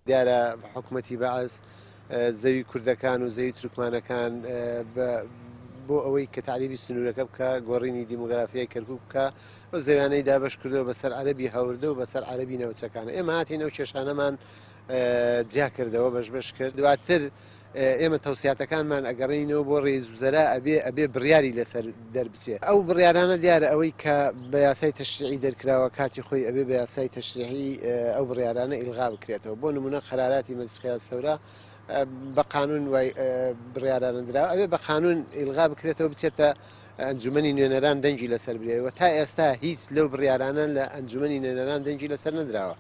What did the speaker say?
دیارە حکومەتی بەعس زەوی کوردەکان و زەوی تورکمانەکان بۆ ئەوەی کە تەعریبی سنوورەکە بکا، گۆڕینی دیمۆگرافیای کەرکووک بکا، ئەو زەویانەی دابەش کردووە بەسەر عەرەبی هاوردە و بەسەر عەرەبی ناوچەکان. ئێمە هاتین ئەو کێشانەمان جیا کردەوە، بەش بەش کرد. دواتر ئێمە تەوسیاتەکانمان ئەگەڕێنینەوە بۆ رئیس وزەرا ئەبێ ئەبێ بڕیاری لەسەر دەربچێ. ئەو بڕیارانە دیارە ئەوەی کە بە یاسای تەشریعی دەرکراوە کاتی خۆی ئەبێ بە یاسای تەشریعی ئەو بڕیارانە ئیلغا بکرێتەوە. بۆ نموونە قەراراتی مەجلس قیادە سەورا بە قانوون وای بڕیارانە دراوە ئەبێ بە قانوون ئیلغا بکرێتەوە بچێتە ئەنجومەنی نوێنەران دەنگی لەسەر برێ و تا ئێستا هیچ لەو بڕیارانە لە ئەنجومەنی نوێنەران دەنگی لەسەر نەدراوە.